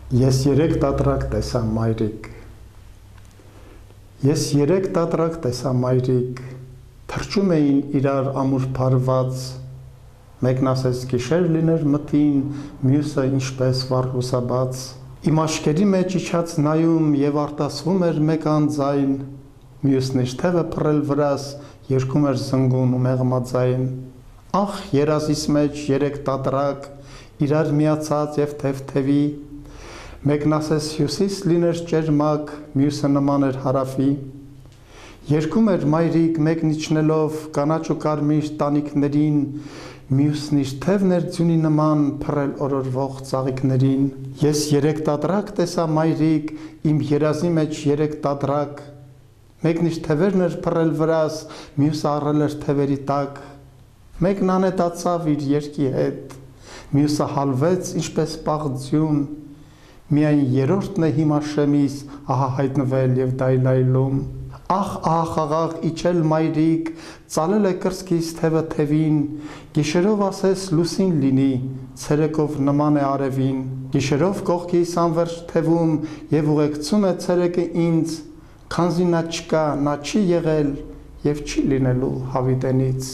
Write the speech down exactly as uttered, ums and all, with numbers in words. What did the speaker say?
Ես երեք տատրակ տեսա մայրիկ, ես երեք տատրակ տեսա մայրիկ, թրջում էին իրար ամուր փարված, մեկն ասեց գիշեր լիներ մթին, մյուսը ինչպես վառ լուսաբաց, իմ աշկերի մեջ իջած նայում և արտասվում էր մեկ անձայն, մյուսն իր թևը փռել վրաս, երգում էր զնգուն ու մեղմաձայն, ախ երազիս մեջ երեք տատրակ, իրար միացած և թև-թևի, մեկն ասես հյուսիս լիներ ճերմակ, մյուսը նման էր հարավի, երգում էր մայրիկ մեկն իջնելով կանաչ ու կարմիր տանիքներին, մյուսն իր թևն էր ձյունի նման փռել օրորվող ծաղիկներին, ես երեք տատրակ տեսա մայրիկ, իմ երազի մեջ երեք տատրակ, մեկն իր թևերն էր փռել վրաս, մյուսը առել էր թևերի տակ, մեկն անհետացավ իր երգի հետ, մյուսը հալվեց ինչպես պաղձյուն, միայն երրորդն է հիմա շեմիս ահա հայտնվել և դայլայլում, ախ ահա խաղաղ իջել մայրիկ, ծալել է կրծքիս թևը թևին, գիշերով ասես լուսին լինի, ցերեկով նման է արևին, գիշերով կողքիս անվերջ թևում և ուղեկցում է ցերեկը ինձ, քանզի նա չկա, նա չի եղել և չի լինելու հավիտենից։